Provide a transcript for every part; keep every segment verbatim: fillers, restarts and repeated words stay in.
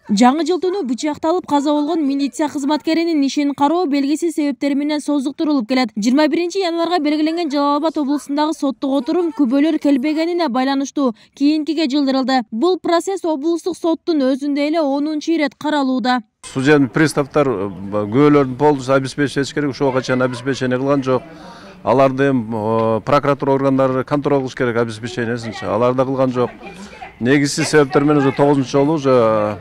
Жаңы жыл түнү бычакталып каза болгон милиция кызматкеринин ишин кароо белгисиз себептер менен создуктурулуп келет. жыйырма биринчи январга белгиленген Жалал Абад облусундагы соттук отурум күбөлөр келбегенине байланыштуу кийинкиге жылдырылды. Бул процесс облустук соттун өзүндө эле онунчу ирет каралууда. Судебный приставтар күбөлөрдүн полностью обеспечить этиш керек, ошого качан обеспечение кылган жок. Аларды прокуратура органдары контроль кылыш керек обеспечениесинчи. Алар да кылган жок. Негизсиз себептер менен уже тогузунчу жолу уже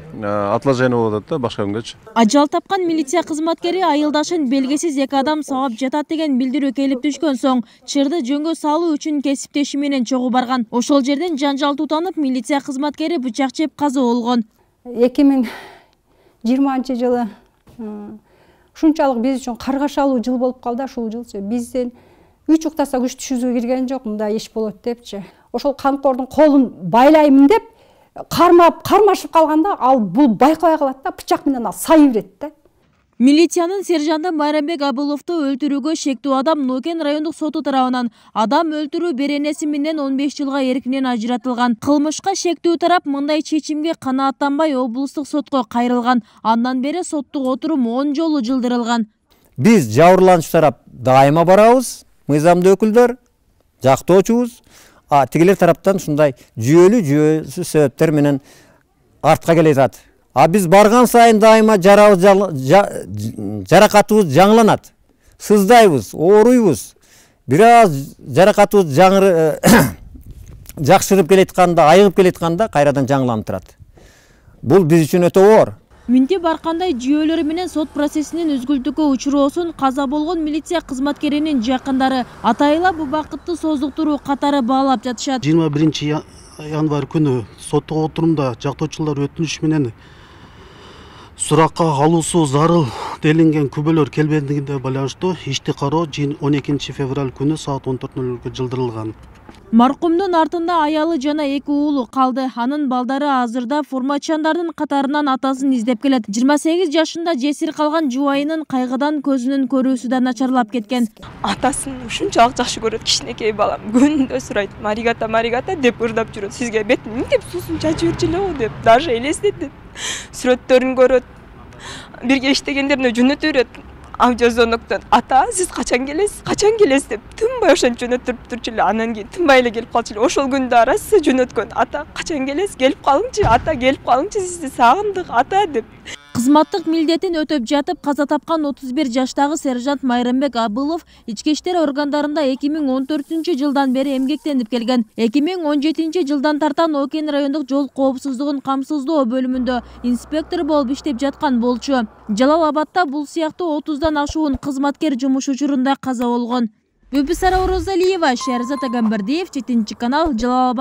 отложение болуп атат да башка күнгөчү. Ажал тапкан милиция кызматкери айылдашын белгисиз эки адам сабап жатат деген билдирүү келип түшкөн соң чырды жөнгө салуу үчүн кесиптеши менен чогуу барган. Ошол жерден жанжал тутанып, милиция кызматкери бычак жеп каза болгон. эки миң жыйырманчы жылы ушунчалык биз үчүн каргашалуу жыл болуп калды. Ушул жылчы бизден үч уктаса күч түшүрүүгө кирген жок, мындай иш болот депчи. Ошол камкордун колун байлаймын деп кармап кармашып калганда, ал бул байкабай калат да, бычак менен ал сай берет да. Милициянын сержанты Майрамбек Абыловду өлтүрүүгө шектүү адам Нокен райондук соту тарабынан адам өлтүрүү беренеси менен он беш жылга эркинен ажыратылган. Кылмышка шектүү тарап мындай чечимге канааттанбай облустук сотко кайрылган. Андан бери соттук отурум он жолу жылдырылган. Биз жабырлануучу тарап дайыма барабыз, мыйзамдуу өкүлдөр, жактоочубуз. А тигилер тараптан ушундай жүйөлүү жүйөсүз себептер менен артка келе жатат. А биз барган сайын дайыма жарабыз жаракатыбыз жаңыланат. Сыздайбыз, ооруйбуз. Бир аз жаракатыбыз жаңыр жакшырып келетканда, айыгып келетканда кайрадан жаңыланып турат. Бул биз үчүн өтө оор. Минтип аркандай жүйөлөрү менен сот процессинин үзгүлтүккө учуроосун каза болгон милиция кызматкеринин жакындары атайла бул бакытты создуктуруу катары баалап жатышат. жыйырма биринчи январь күнү соттук отурумда жактоочулар өтүнүш менен суракка алуусу зарыл делинген күбөлөр келбегендигине байланыштуу ишти кароо он экинчи февраль күнү саат он төрт ноль нөлгө жылдырылган. Маркумдун артында аялы жана эки уулу калды. Анын балдары азырда формачандардын катарынан атасын издеп келет. жыйырма сегиз жашында жесир калган жубайынын кайгыдан көзүнүн көрүүсү да начарлап кеткен. Атасын ушунчалык жакшы көрөт, кичинекей балам. Күндө сурайт, "Маригата, маригата" деп ырдап жүрөт. "Сизге бетин мынтип суусун чачып жүрчү эле го" деп, даже элестетип. Сүрөттөрүн көрөт. Бирге иштегендерине жөнөтө берет. Аудиозвоноктон "Ата, сиз качан келесиз? Качан келесиз?" деп тынбай ошентип жөнөтүп турчу эле. Анан кийин тынбай эле келип калчу эле. Ошол күндө арасы жөнөткөн. "Ата, качан келесиз? Келип калыңчы. Ата, келип калыңчы. Сизди сагындык, ата" деп. Кызматтык милдетин өтөп жатып каза тапкан отуз бир жаштагы сержант Майрамбек Абылов ички иштер органдарында эки миң он төртүнчү жылдан бери эмгектенип келген. эки миң он жетинчи жылдан тартан Нокен райондук жол коопсуздугун камсыздоо бөлүмүндө инспектор болуп иштеп жаткан болчу. Жалал Абадта бул сыяктуу отуздан ашуун кызматкер жумуш учурунда каза болгон. Бүпүсара Орозалиева, Шерзат Агамбердиев, жетинчи канал, Жалал Абад.